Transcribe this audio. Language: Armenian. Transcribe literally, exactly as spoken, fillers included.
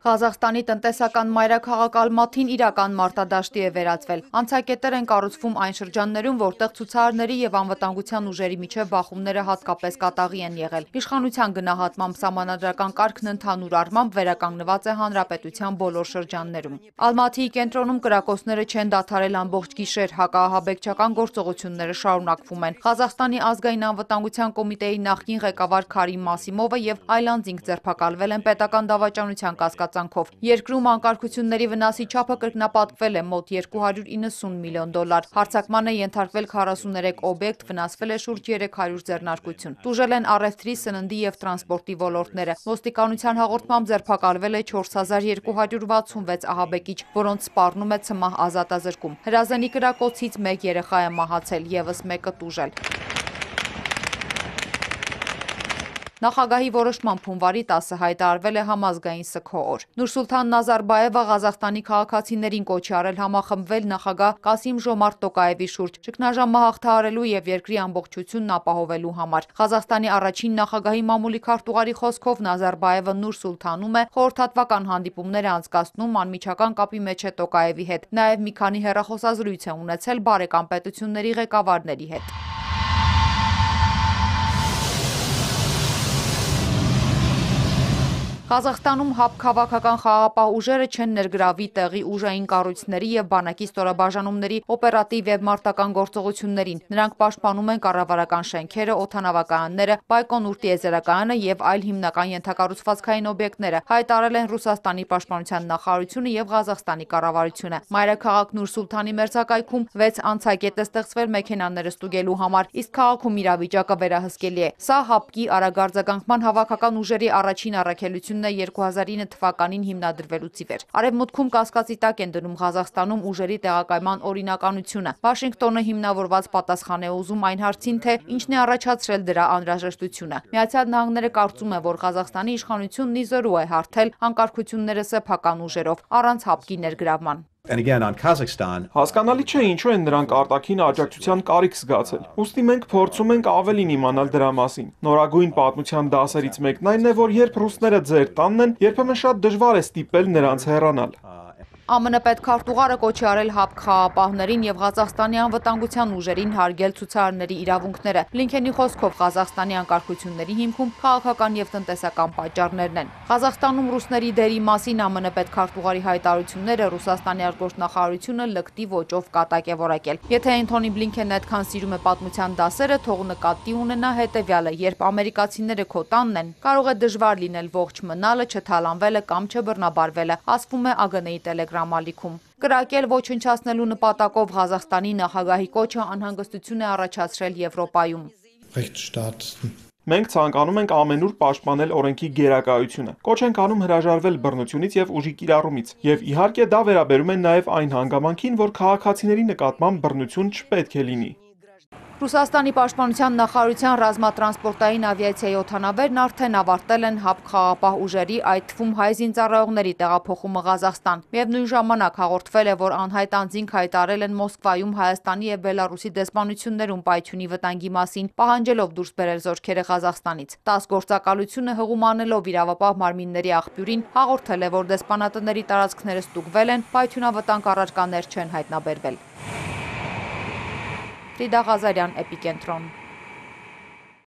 Ղազախստանի տնտեսական մայրաքաղաք Ալմաթին իրական մարտադաշտի է վերածվել։ Անցակետեր են կառուցվում այն շրջաններում, որտեղ ցուցարարների եւ անվտանգության ուժերի միջև բախումները հատկապես կատաղի են եղել։ Իշխանության գնահատմամբ սահմանադրական կարգն ընդհանուր առմամբ վերականգնված է հանրապետության բոլոր շրջաններում։ Ալմաթիի կենտրոնում կրակոցները չեն դադարել ամբողջ գիշեր, հակահաբեկչական գործողությունները շարունակվում են։ Ղազախստանի ազգային անվտանգության կոմիտեի նախկին ղեկավար Քարիմ Մասիմովը եւ այլ անձինք ձերբակալվել են պետական դավաճանության կասկածանքով։ Երկրում անկարգությունների վնասի չափը կրկնապատկվել է մոտ երկու հարյուր իննսուն միլիոն դոլար։ Հարձակման է ենթարկվել քառասուներեք օբյեկտ, վնասվել է շուրջ երեք հարյուր ձեռնարկություն։ Տուժել են առևտրի, սննդի եւ տրանսպորտի ոլորտները։ Ոստիկանության հաղորդմամբ ձերբակալվել է չորս հազար երկու հարյուր վաթսունվեց ահաբեկիչ, որոնց սպառնում է ցմահ ազատազրկում։ Հրազենի կրակոցից մեկ երեխա է մահացել, եւս մեկը տուժել։ Նախագահի որոշմամբ հունվարի տասը հայտարարվել է համազգային սգո օր։ Նուրսուլթան Նազարբաևը Ղազախստանի քաղաքացիներին կոչ է արել համախմբվել նախագահ Կասիմ Ժոմարտ Տոկաևի շուրջ, ճգնաժամը հաղթահարելու եւ երկրի ամբողջությունն ապահովելու համար։ Ղազախստանի առաջին նախագահի մամուլի քարտուղարի խոսքով Նազարբաևը Նուրսուլթանում է խորհրդատվական հանդիպումներ է անցկացնում, անմիջական կապի մեջ է Տոկաևի հետ։ Նաեւ մի քանի հեռախոսազրույց է ունեցել բարեկամ պետությունների ղեկավարների հետ։ Ղազախստանում ՀԱՊ քաղաքական խաղաղապահ ուժերը չեն ներգրավի տեղի ուժային կառույցների եւ բանակի ստորաբաժանումների օպերատիվ եւ մարտական գործողություններին։ Նրանք պաշտպանում են կառավարական շենքերը, օդանավակայանները, Բայկոնուր տիեզերակայանը եւ այլ հիմնական ենթակառուցվածքային օբյեկտները, հայտարարել են Ռուսաստանի պաշտպանության նախարարությունը եւ Ղազախստանի կառավարությունը։ Մայրաքաղաք Նուրսուլթանի մերձակայքում վեց անցակետ է ստեղծվել մեքենաները ստուգելու համար, իսկ քաղաքում իրավիճակը վերահսկելի է։ Սա ՀԱՊԿ-ի արագարձագանքման հավաքական ուժերի առաջին առաքելությունն է երկու հազար ինը թվականին հիմնադրվելուց ի վեր։ Արևմուտքում կասկածի տակ են դնում Ղազախստանում ուժերի տեղակայման օրինականությունը։ Վաշինգտոնը հիմնավորված պատասխան է ուզում այն հարցին, թե ինչն է առաջացրել դրա անհրաժեշտությունը։ Միացյալ Նահանգները կարծում է, որ Ղազախստանի իշխանությունն ի զորու է հարթել անկարգությունները սեփական ուժերով, առանց ՀԱՊԿ-ի ներգրավման։ Հասկանալի չէ ինչու են նրանք արտաքին աջակցության կարիք զգացել։ Ուստի մենք փորձում ենք ավելին իմանալ դրա մասին։ Նորագույն պատմության դասերից մեկն այն է, որ երբ ռուսները ձեր տանն են, երբեմն շատ դժվար է ստիպել նրանց հեռանալ։ ԱՄՆ պետքարտուղարը կոչ է արել ՀԱՊԿ խաղաղապահներին եւ Ղազախստանի անվտանգության ուժերին հարգել ցուցարարների իրավունքները։ Բլինքենի խոսքով Ղազախստանի անկարգությունների հիմքում քաղաքական եւ տնտեսական պատճառներն են։ Ղազախստանում ռուսների դերի մասին ԱՄՆ պետքարտուղարի հայտարարությունները Ռուսաստանի արտգործնախարարությունը լկտի ոճով կատակ է որակել։ Եթե Էնթոնի Բլինքենն այդքան սիրում է պատմության դասերը, թող նկատի ունենա հետեւյալը. երբ ամերիկացիները քո տանն են, կարող է դժվար լինել ողջ մնալը, չթալանվելը կամ չբռնաբարվելը, ասվում է ԱԳՆ-ի Telegram ալիքում։ Կրակել ոչնչացնելու նպատակով Ղազախստանի նախագահի կոչը անհանգստություն է առաջացրել Եվրոպայում։ Մենք ցանկանում ենք ամենուր պաշտպանել օրենքի գերակայությունը։ Կոչ ենք անում հրաժարվել բռնությունից եւ ուժի կիրառումից։ Եվ իհարկե դա վերաբերում է նաեւ այն հանգամանքին, որ քաղաքացիների նկատմամբ բռնություն չպետք է լինի։ Ռուսաստանի պաշտպանության նախարարության ռազմատրանսպորտային ավիացիայի օդանավերն արդեն ավարտել են ՀԱՊԿ խաղաղապահ ուժերի, այդ թվում հայ զինծառայողների տեղափոխումը Ղազախստան։ Միևնույն ժամանակ հաղորդվել է, որ անհայտ անձինք հայտարարել են Մոսկվայում Հայաստանի եւ Բելարուսի դեսպանություններում պայթյունի վտանգի մասին, պահանջելով դուրս բերել զորքերը Ղազախստանից։ ՏԱՍՍ գործակալությունը հղումանելով իրավապահ մարմինների աղբյուրին հաղորդել է, որ դեսպանատների տարածքները ստուգվել են, պայթյունավտանգ առարկաներ չեն հայտնաբերվել։ Ֆրիդա Ղազարյան, Էպիկենտրոն։